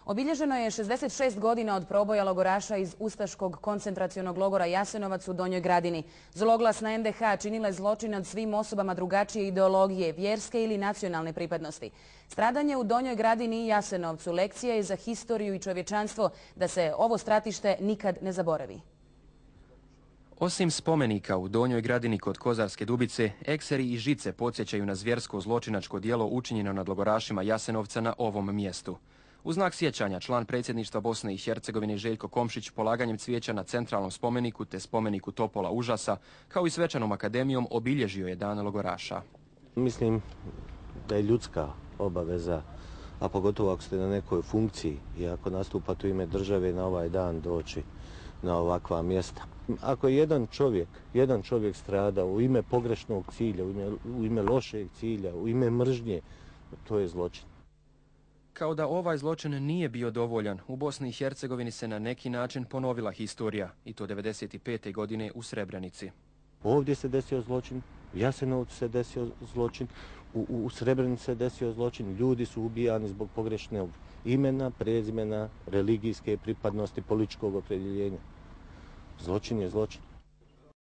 Obilježeno je 66 godina od proboja logoraša iz ustaškog koncentracionog logora Jasenovac u Donjoj Gradini. Zloglasna NDH činila je zločin nad svim osobama drugačije ideologije, vjerske ili nacionalne pripadnosti. Stradanje u Donjoj Gradini i Jasenovcu lekcija je za historiju i čovječanstvo da se ovo stratište nikad ne zaboravi. Osim spomenika u Donjoj Gradini kod Kozarske Dubice, ekseri i žice podsjećaju na zvjersko zločinačko djelo učinjeno nad logorašima Jasenovca na ovom mjestu. U znak sjećanja član predsjedništva Bosne i Hercegovine Željko Komšić polaganjem cvijeća na centralnom spomeniku te spomeniku Topola užasa, kao i svečanom akademijom, obilježio je dan logoraša. Mislim da je ljudska obaveza, a pogotovo ako ste na nekoj funkciji i ako nastupate u ime države, na ovaj dan doći na ovakva mjesta. Ako je jedan čovjek strada u ime pogrešnog cilja, u ime lošeg cilja, u ime mržnje, to je zločin. Kao da ovaj zločin nije bio dovoljan, u Bosni i Hercegovini se na neki način ponovila historija, i to 1995. godine u Srebrenici. Ovdje se desio zločin, u Jasenovcu se desio zločin, u Srebrenici se desio zločin, ljudi su ubijani zbog pogrešnog imena, prezimena, religijske pripadnosti, političkog opredjeljenja. Zločin je zločin.